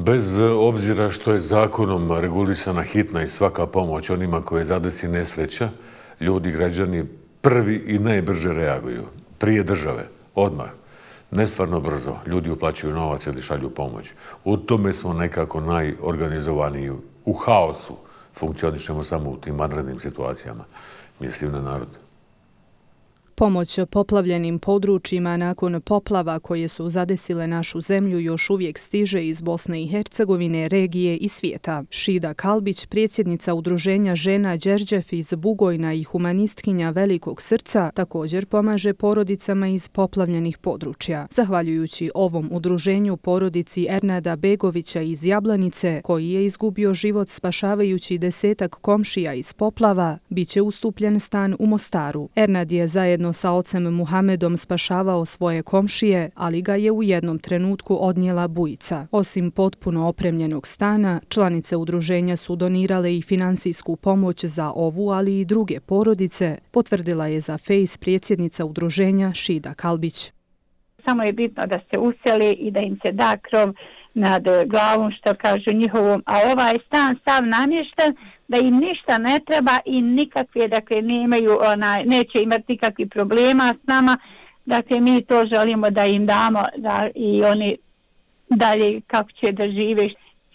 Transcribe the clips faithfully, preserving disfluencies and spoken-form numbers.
Bez obzira što je zakonom regulisana hitna i svaka pomoć onima koje zadesi nesreća, ljudi, građani prvi i najbrže reaguju. Prije države, odmah. Nestvarno brzo. Ljudi uplaćuju novac ili šalju pomoć. U tome smo nekako najorganizovaniji. U haosu funkcionišemo samo u tim vanrednim situacijama. Mislim na narod. Pomoć poplavljenim područjima nakon poplava koje su zadesile našu zemlju još uvijek stiže iz Bosne i Hercegovine, regije i svijeta. Šida Kalbić, predsjednica udruženja žena Đerđef iz Bugojna i humanistkinja Velikog srca, također pomaže porodicama iz poplavljenih područja. Zahvaljujući ovom udruženju porodici Ernada Begovića iz Jablanice, koji je izgubio život spašavajući desetak komšija iz poplava, bit će ustupljen stan u Mostaru. Ernad je zajedno sa ocem Muhamedom spašavao svoje komšije, ali ga je u jednom trenutku odnijela bujica. Osim potpuno opremljenog stana, članice udruženja su donirale i finansijsku pomoć za ovu, ali i druge porodice, potvrdila je za Face predsjednica udruženja Šida Kalbić. Samo je bitno da se useli i da im se da krov nad glavom, što kažu njihovom, a ovaj stan sav namješten, da im ništa ne treba i nikakve, dakle, nemaju, ona, neće imati nikakvih problema s nama. Dakle, mi to želimo da im damo da i oni dalje kako će da žive.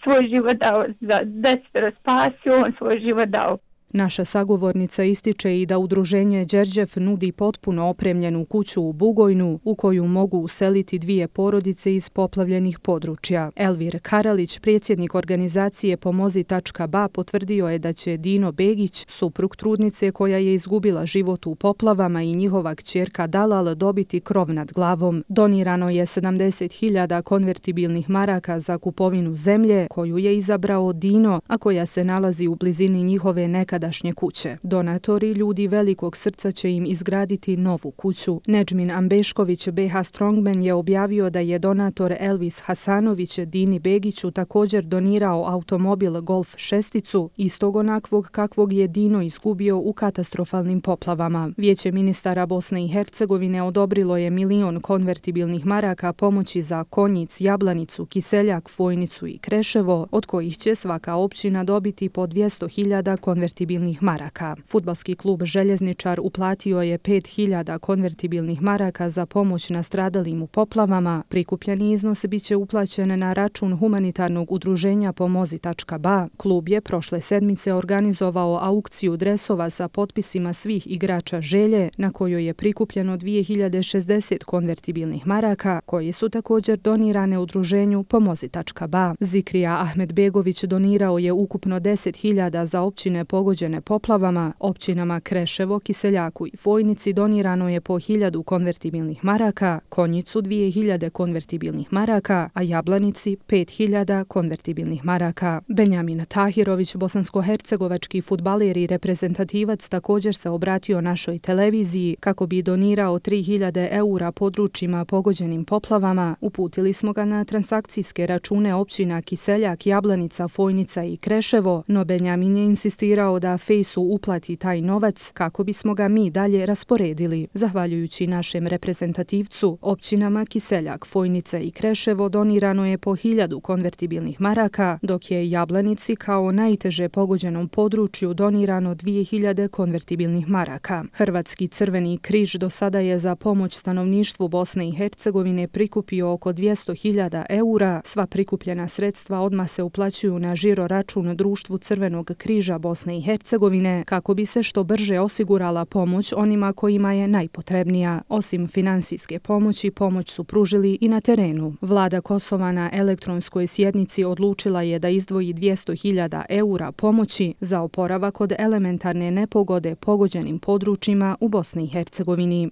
Svoj život dao za desetero spasio, on svoj život dao. Naša sagovornica ističe i da udruženje Đerđef nudi potpuno opremljenu kuću u Bugojnu u koju mogu useliti dvije porodice iz poplavljenih područja. Elvir Karalić, predsjednik organizacije Pomozi tačka ba, potvrdio je da će Dino Begić, suprug trudnice koja je izgubila život u poplavama, i njihova kćerka Dalal dobiti krov nad glavom. Donirano je sedamdeset hiljada konvertibilnih maraka za kupovinu zemlje koju je izabrao Dino, a koja se nalazi u blizini njihove nekad dašnje kuće. Donatori, ljudi Velikog srca, će im izgraditi novu kuću. Nedžmin Ambešković, be ha Strongman, je objavio da je donator Elvis Hasanović Dini Begiću također donirao automobil Golf šesticu, istog onakvog kakvog je Dino izgubio u katastrofalnim poplavama. Vijeće ministara Bosne i Hercegovine odobrilo je milion konvertibilnih maraka pomoći za Konjic, Jablanicu, Kiseljak, Fojnicu i Kreševo, od kojih će svaka općina dobiti po dvjesto hiljada konvertibilnih maraka. Fudbalski klub Željezničar uplatio je pet hiljada konvertibilnih maraka za pomoć nastradalim u poplavama. Prikupljeni iznos biće uplaćen na račun humanitarnog udruženja Pomozi tačka ba. Klub je prošle sedmice organizovao aukciju dresova sa potpisima svih igrača Želje, na kojoj je prikupljeno dvije hiljade šezdeset konvertibilnih maraka, koje su također donirane udruženju Pomozi tačka ba. Zikrija Ahmedbegović donirao je ukupno deset hiljada za općine pogođene poplavama. Općinama Kreševo, Kiseljaku i Fojnici donirano je po hiljadu konvertibilnih maraka, Konjicu dvije hiljade konvertibilnih maraka, a Jablanici pet hiljada konvertibilnih maraka. Benjamin Tahirović, bosansko-hercegovački fudbaler i reprezentativac, također se obratio našoj televiziji kako bi donirao tri hiljade eura područjima pogođenim poplavama. Uputili smo ga na transakcijske račune općina Kiseljak, Jablanica, Fojnica i Kreševo, no Benjamin je insistirao da Fejsu uplati taj novac kako bismo ga mi dalje rasporedili. Zahvaljujući našem reprezentativcu, općinama Kiseljak, Fojnica i Kreševo donirano je po hiljadu konvertibilnih maraka, dok je Jablanici kao najteže pogođenom području donirano dvije hiljade konvertibilnih maraka. Hrvatski Crveni križ do sada je za pomoć stanovništvu Bosne i Hercegovine prikupio oko dvjesto hiljada eura. Sva prikupljena sredstva odmah se uplaćuju na žiro račun Društvu Crvenog križa Bosne i Hercegovine kako bi se što brže osigurala pomoć onima kojima je najpotrebnija. Osim finansijske pomoći, pomoć su pružili i na terenu. Vlada Kosova na elektronskoj sjednici odlučila je da izdvoji dvjesto hiljada eura pomoći za oporavak od elementarne nepogode pogođenim područjima u Bosni i Hercegovini.